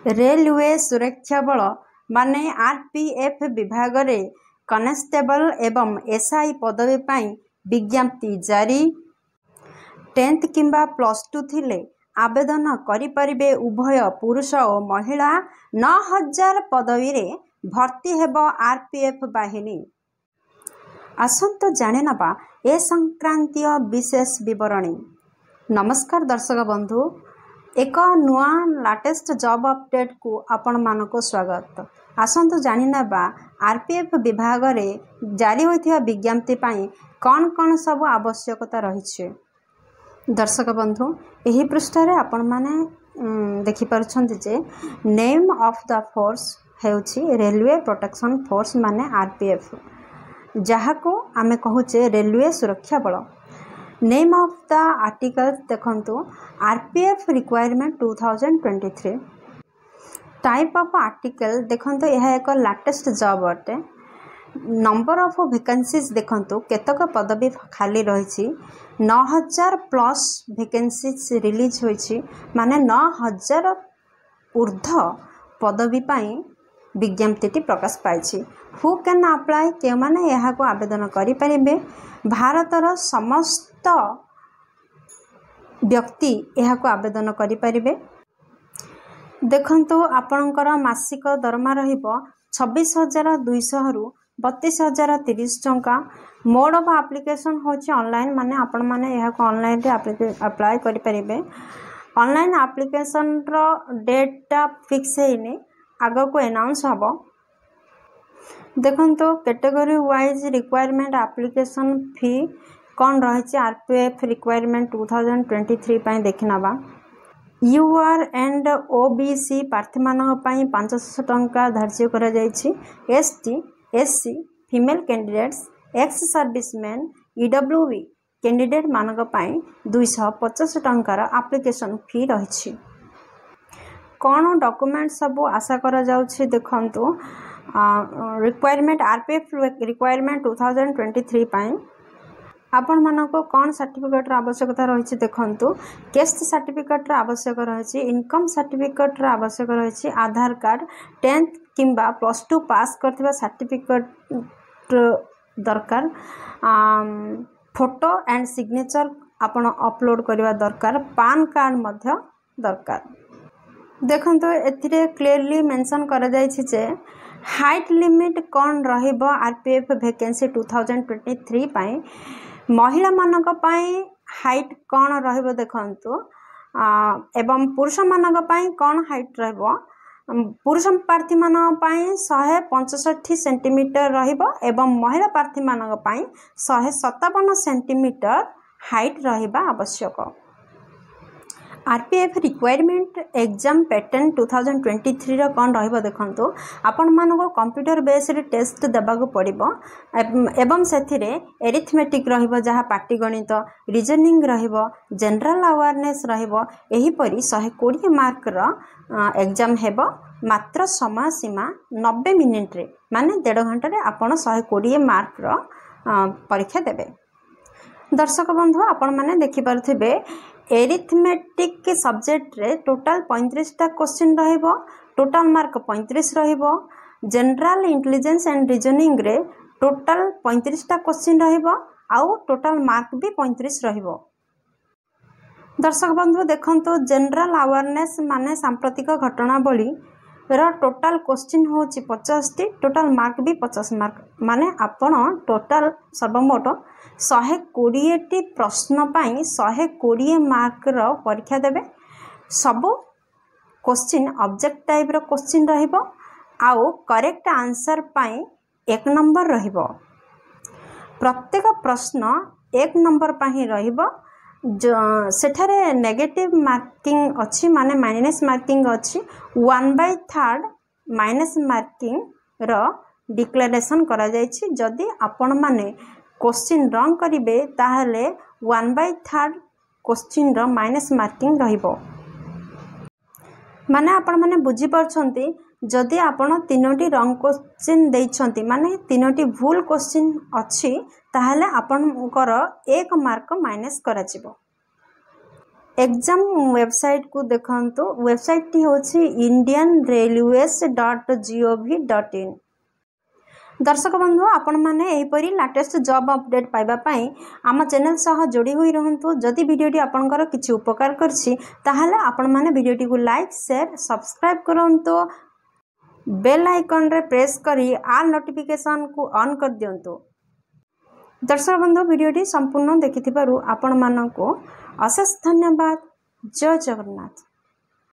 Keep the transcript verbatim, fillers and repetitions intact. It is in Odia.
ରେଲୱେ ସୁରକ୍ଷା ବଳ ମାନେ ଆର୍ ପି ଏଫ୍ ବିଭାଗରେ କନେଷ୍ଟବଳ ଏବଂ ଏସ୍ I ପଦବୀ ପାଇଁ ବିଜ୍ଞପ୍ତି ଜାରି। ଟେନ୍ଥ କିମ୍ବା ପ୍ଲସ୍ ଟୁ ଥିଲେ ଆବେଦନ କରିପାରିବେ ଉଭୟ ପୁରୁଷ ଓ ମହିଳା। ନଅ ହଜାର ପଦବୀରେ ଭର୍ତ୍ତି ହେବ ଆର୍ ପି ଏଫ୍ ବାହିନୀ। ଆସନ୍ତୁ ଜାଣିନେବା ଏ ସଂକ୍ରାନ୍ତୀୟ ବିଶେଷ ବିବରଣୀ। ନମସ୍କାର ଦର୍ଶକ ବନ୍ଧୁ, ଏକ ନୂଆ ଲାଟେଷ୍ଟ ଜବ୍ ଅପଡ଼େଟ୍କୁ ଆପଣମାନଙ୍କୁ ସ୍ୱାଗତ। ଆସନ୍ତୁ ଜାଣିନେବା ଆର୍ ପି ଏଫ୍ ବିଭାଗରେ ଜାରି ହୋଇଥିବା ବିଜ୍ଞପ୍ତି ପାଇଁ କ'ଣ କ'ଣ ସବୁ ଆବଶ୍ୟକତା ରହିଛି। ଦର୍ଶକ ବନ୍ଧୁ, ଏହି ପୃଷ୍ଠାରେ ଆପଣମାନେ ଦେଖିପାରୁଛନ୍ତି ଯେ ନେମ୍ ଅଫ୍ the force ହେଉଛି ରେଲୱେ ପ୍ରୋଟେକ୍ସନ୍ ଫୋର୍ସ ମାନେ ଆର୍ ପି ଏଫ୍, ଯାହାକୁ ଆମେ କହୁଛେ ରେଲୱେ ସୁରକ୍ଷା ବଳ। ନେମ୍ ଅଫ୍ the article ଦେଖନ୍ତୁ, R P F recruitment two thousand twenty three। Type of article ଦେଖନ୍ତୁ, ଏହା ଏକ ଲାଟେଷ୍ଟ ଜବ୍ ଅଟେ। ନମ୍ବର ଅଫ୍ ଭେକେନ୍ସିଜ୍ ଦେଖନ୍ତୁ, କେତେକ ପଦବୀ ଖାଲି ରହିଛି। ନଅ ହଜାର ପ୍ଲସ୍ ଭେକେନ୍ସିଜ୍ ରିଲିଜ୍ ହୋଇଛି, ମାନେ ନଅ ହଜାର ଉର୍ଦ୍ଧ୍ୱ ପଦବୀ ପାଇଁ ବିଜ୍ଞପ୍ତିଟି ପ୍ରକାଶ ପାଇଛି। Who can apply? କେଉଁମାନେ ଏହାକୁ ଆବେଦନ କରିପାରିବେ? ଭାରତର ସମସ୍ତ ବ୍ୟକ୍ତି ଏହାକୁ ଆବେଦନ କରିପାରିବେ। ଦେଖନ୍ତୁ, ଆପଣଙ୍କର ମାସିକ ଦରମା ରହିବ ଛବିଶ ହଜାର ଦୁଇଶହରୁ ବତିଶ ହଜାର ତିରିଶ ଟଙ୍କା। ମୋଡ଼ ଅଫ୍ ଆପ୍ଲିକେସନ୍ ହେଉଛି ଅନଲାଇନ୍, ମାନେ ଆପଣମାନେ ଏହାକୁ ଅନଲାଇନ୍ରେ ଆପ୍ଲାଏ କରିପାରିବେ। ଅନଲାଇନ୍ ଆପ୍ଲିକେସନ୍ର ଡେଟ୍ଟା ଫିକ୍ସ ହେଇନି, ଆଗକୁ ଆନାଉନ୍ସ ହେବ। ଦେଖନ୍ତୁ, category wise requirement application fee କ'ଣ ରହିଛି R P F recruitment two thousand twenty three ପାଇଁ ଦେଖିନେବା। You R and O B C ପ୍ରାର୍ଥୀମାନଙ୍କ ପାଇଁ ପାଞ୍ଚଶହ ଟଙ୍କା ଧାର୍ଯ୍ୟ କରାଯାଇଛି। S T, S C, female candidates, ex serviceman, E W B କ୍ୟାଣ୍ଡିଡେଟ୍ମାନଙ୍କ ପାଇଁ ଦୁଇଶହ ପଚାଶ ଟଙ୍କାର ଆପ୍ଲିକେସନ୍ ଫି ରହିଛି। କ'ଣ ଡକୁମେଣ୍ଟ ସବୁ ଆଶା କରାଯାଉଛି ଦେଖନ୍ତୁ, recruitment R P F recruitment two thousand twenty three ପାଇଁ ଆପଣମାନଙ୍କୁ କ'ଣ ସାର୍ଟିଫିକେଟ୍ର ଆବଶ୍ୟକତା ରହିଛି। ଦେଖନ୍ତୁ, କାଷ୍ଟ ସାର୍ଟିଫିକେଟ୍ର ଆବଶ୍ୟକ ରହିଛି, ଇନକମ୍ ସାର୍ଟିଫିକେଟ୍ର ଆବଶ୍ୟକ ରହିଛି, ଆଧାର କାର୍ଡ଼, ଟେନ୍ଥ କିମ୍ବା ପ୍ଲସ୍ ଟୁ ପାସ୍ କରିଥିବା ସାର୍ଟିଫିକେଟ୍ ଦରକାର, ଫଟୋ ଆଣ୍ଡ ସିଗ୍ନେଚର୍ ଆପଣ ଅପଲୋଡ଼ କରିବା ଦରକାର, ପାନ୍ କାର୍ଡ଼ ମଧ୍ୟ ଦରକାର। ଦେଖନ୍ତୁ, ଏଥିରେ କ୍ଲିୟରଲି ମେନସନ୍ କରାଯାଇଛି ଯେ ହାଇଟ୍ ଲିମିଟ୍ କ'ଣ ରହିବ R P F vacancy two thousand twenty three ପାଇଁ। ମହିଳାମାନଙ୍କ ପାଇଁ ହାଇଟ୍ କ'ଣ ରହିବ ଦେଖନ୍ତୁ ଏବଂ ପୁରୁଷମାନଙ୍କ ପାଇଁ କ'ଣ ହାଇଟ୍ ରହିବ। ପୁରୁଷ ପ୍ରାର୍ଥୀମାନଙ୍କ ପାଇଁ ଶହେ ପଞ୍ଚଷଠି ସେଣ୍ଟିମିଟର ରହିବ ଏବଂ ମହିଳା ପ୍ରାର୍ଥୀମାନଙ୍କ ପାଇଁ ଶହେ ସତାବନ ସେଣ୍ଟିମିଟର ହାଇଟ୍ ରହିବା ଆବଶ୍ୟକ। R P F recruitment exam pattern two thousand twenty ଥ୍ରୀର କ'ଣ ରହିବ ଦେଖନ୍ତୁ, ଆପଣମାନଙ୍କୁ କମ୍ପ୍ୟୁଟର ବେସ୍ଡ ଟେଷ୍ଟ ଦେବାକୁ ପଡ଼ିବ ଏବଂ ସେଥିରେ ଏରିଥମେଟିକ୍ ରହିବ, ଯାହା ପାଟିଗଣିତ, ରିଜନିଂ ରହିବ, ଜେନେରାଲ ଆୱାରନେସ୍ ରହିବ। ଏହିପରି ଶହେ କୋଡ଼ିଏ ମାର୍କର ଏକ୍ଜାମ୍ ହେବ, ମାତ୍ର ସମୟ ସୀମା ନବେ ମିନିଟ୍ରେ, ମାନେ ଦେଢ଼ ଘଣ୍ଟାରେ ଆପଣ ଶହେ କୋଡ଼ିଏ ମାର୍କର ପରୀକ୍ଷା ଦେବେ। ଦର୍ଶକ ବନ୍ଧୁ, ଆପଣମାନେ ଦେଖିପାରୁଥିବେ ଏରିଥମେଟିକ୍ ସବଜେକ୍ଟରେ ଟୋଟାଲ୍ ପଇଁତିରିଶଟା କୋଶ୍ଚିନ୍ ରହିବ, ଟୋଟାଲ୍ ମାର୍କ ପଇଁତିରିଶ ରହିବ। ଜେନେରାଲ ଇଣ୍ଟେଲିଜେନ୍ସ ଆଣ୍ଡ ରିଜନିଂରେ ଟୋଟାଲ୍ ପଇଁତିରିଶଟା କୋଶ୍ଚିନ୍ ରହିବ ଆଉ ଟୋଟାଲ୍ ମାର୍କ ବି ପଇଁତିରିଶ ରହିବ। ଦର୍ଶକ ବନ୍ଧୁ, ଦେଖନ୍ତୁ, ଜେନେରାଲ ଆୱାରନେସ୍ ମାନେ ସାମ୍ପ୍ରତିକ ଘଟଣାବଳୀର ଟୋଟାଲ୍ କୋଶ୍ଚିନ୍ ହେଉଛି ପଚାଶଟି, ଟୋଟାଲ୍ ମାର୍କ ବି ପଚାଶ ମାର୍କ, ମାନେ ଆପଣ ଟୋଟାଲ୍ ସର୍ବମୋଟ ଶହେ କୋଡ଼ିଏଟି ପ୍ରଶ୍ନ ପାଇଁ ଶହେ କୋଡ଼ିଏ ମାର୍କର ପରୀକ୍ଷା ଦେବେ। ସବୁ କୋଶ୍ଚିନ୍ ଅବଜେକ୍ଟିଭ ଟାଇପ୍ର କୋଶ୍ଚିନ୍ ରହିବ ଆଉ କରେକ୍ଟ ଆନ୍ସର୍ ପାଇଁ ଏକ ନମ୍ବର ରହିବ। ପ୍ରତ୍ୟେକ ପ୍ରଶ୍ନ ଏକ ନମ୍ବର ପାଇଁ ରହିବ। ସେଠାରେ ନେଗେଟିଭ୍ ମାର୍କିଂ ଅଛି, ମାନେ ମାଇନସ୍ ମାର୍କିଂ ଅଛି। ୱାନ୍ ବାଇ ଥାର୍ଡ଼ ମାଇନସ୍ ମାର୍କିଂର ଡିକ୍ଲାରେସନ୍ କରାଯାଇଛି। ଯଦି ଆପଣମାନେ କୋଶ୍ଚିନ୍ ରଙ୍ଗ କରିବେ, ତାହେଲେ ୱାନ୍ ବାଇ ଥାର୍ଡ଼ କୋଶ୍ଚିନ୍ର ମାଇନସ୍ ମାର୍କିଂ ରହିବ। ମାନେ ଆପଣମାନେ ବୁଝିପାରୁଛନ୍ତି, ଯଦି ଆପଣ ତିନୋଟି ରଙ୍ଗ କୋଶ୍ଚିନ୍ ଦେଇଛନ୍ତି, ମାନେ ତିନୋଟି ଭୁଲ କୋଶ୍ଚିନ୍ ଅଛି, ତାହେଲେ ଆପଣଙ୍କର ଏକ ମାର୍କ ମାଇନସ୍ କରାଯିବ। ଏକ୍ଜାମ୍ ୱେବସାଇଟ୍କୁ ଦେଖନ୍ତୁ ୱେବସାଇଟ୍ଟି ହେଉଛି Indian Railways dot G O V dot in ଦର୍ଶକ ବନ୍ଧୁ ଆପଣମାନେ ଏହିପରି ଲାଟେଷ୍ଟ ଜବ୍ ଅପଡ଼େଟ୍ ପାଇବା ପାଇଁ ଆମ ଚ୍ୟାନେଲ୍ ସହ ଯୋଡ଼ି ହୋଇ ରୁହନ୍ତୁ ଯଦି ଭିଡ଼ିଓଟି ଆପଣଙ୍କର କିଛି ଉପକାର କରିଛି ତାହେଲେ ଆପଣମାନେ ଭିଡ଼ିଓଟିକୁ ଲାଇକ୍ ସେୟାର ସବସ୍କ୍ରାଇବ୍ କରନ୍ତୁ ବେଲ୍ ଆଇକନ୍ରେ ପ୍ରେସ୍ କରି ଅଲ୍ ନୋଟିଫିକେସନ୍କୁ ଅନ୍ କରିଦିଅନ୍ତୁ ଦର୍ଶକ ବନ୍ଧୁ ଭିଡ଼ିଓଟି ସମ୍ପୂର୍ଣ୍ଣ ଦେଖିଥିବାରୁ ଆପଣମାନଙ୍କୁ ଅଶେଷ ଧନ୍ୟବାଦ ଜୟ ଜଗନ୍ନାଥ